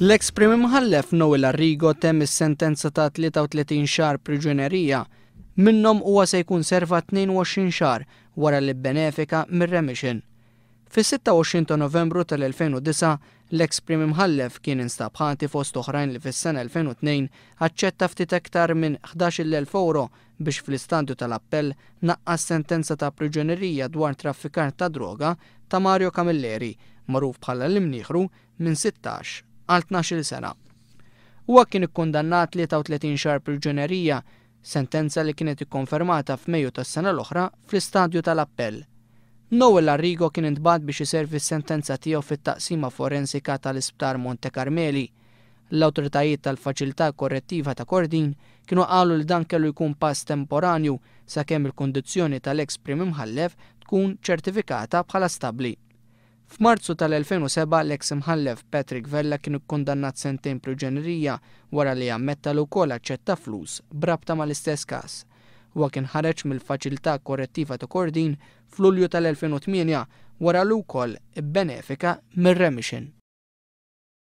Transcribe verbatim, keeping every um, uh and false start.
L-eks Prim Imħallef Noel Arrigo temm is-sentenza ta' tlieta u tletin xahar priġunerija. Minnhom huwa se jkun serva tnejn u għoxrin xahar wara li bbenefika mir-remission. Fis-sitta u għoxrin ta' Novembru tal-elfejn u disgħa, l-eks Prim Imħallef kien instab ħati fost oħrajn li fis-sena elfejn u tnejn aċċetta ftit aktar minn ħdax-il elf euro biex fl-istadju tal-appell naqqas sentenza ta' priġunerija dwar traffikar ta' droga ta' Mario Camilleri, magħruf bħala l-Imnieħru, minn sittax għal tnax-il sena. Huwa kien ikkundannat tlieta u tletin xahar priġunerija, sentenza li kienet ikkonfermata f'Mejju tas-sena l-oħra fl-istadju tal-appell. Noel Arrigo kien intbagħat biex iservi s-sentenza tiegħu fit-taqsima forensika tal-Isptar Monte Carmeli. L-awtoritajiet tal-Faċilità Korrettiva ta' Kordin kienu qalu li dan kellu jkun pass temporanju sakemm il-kundizzjoni tal-eks Prim Imħallef tkun ċertifikata bħala stabbli. F'Marzu tal-elfejn u sebgħa l-eks Imħallef Patrick Vella kien ikkundannat sentejn priġunerija wara li ammetta li wkoll aċċetta flus b'rabta mal-istess każ. Huwa kien ħareġ mill-Faċilità Korrettiva ta' Kordin f'Lulju tal-elfejn u tmienja wara li wkoll ibbenefika mir-remission.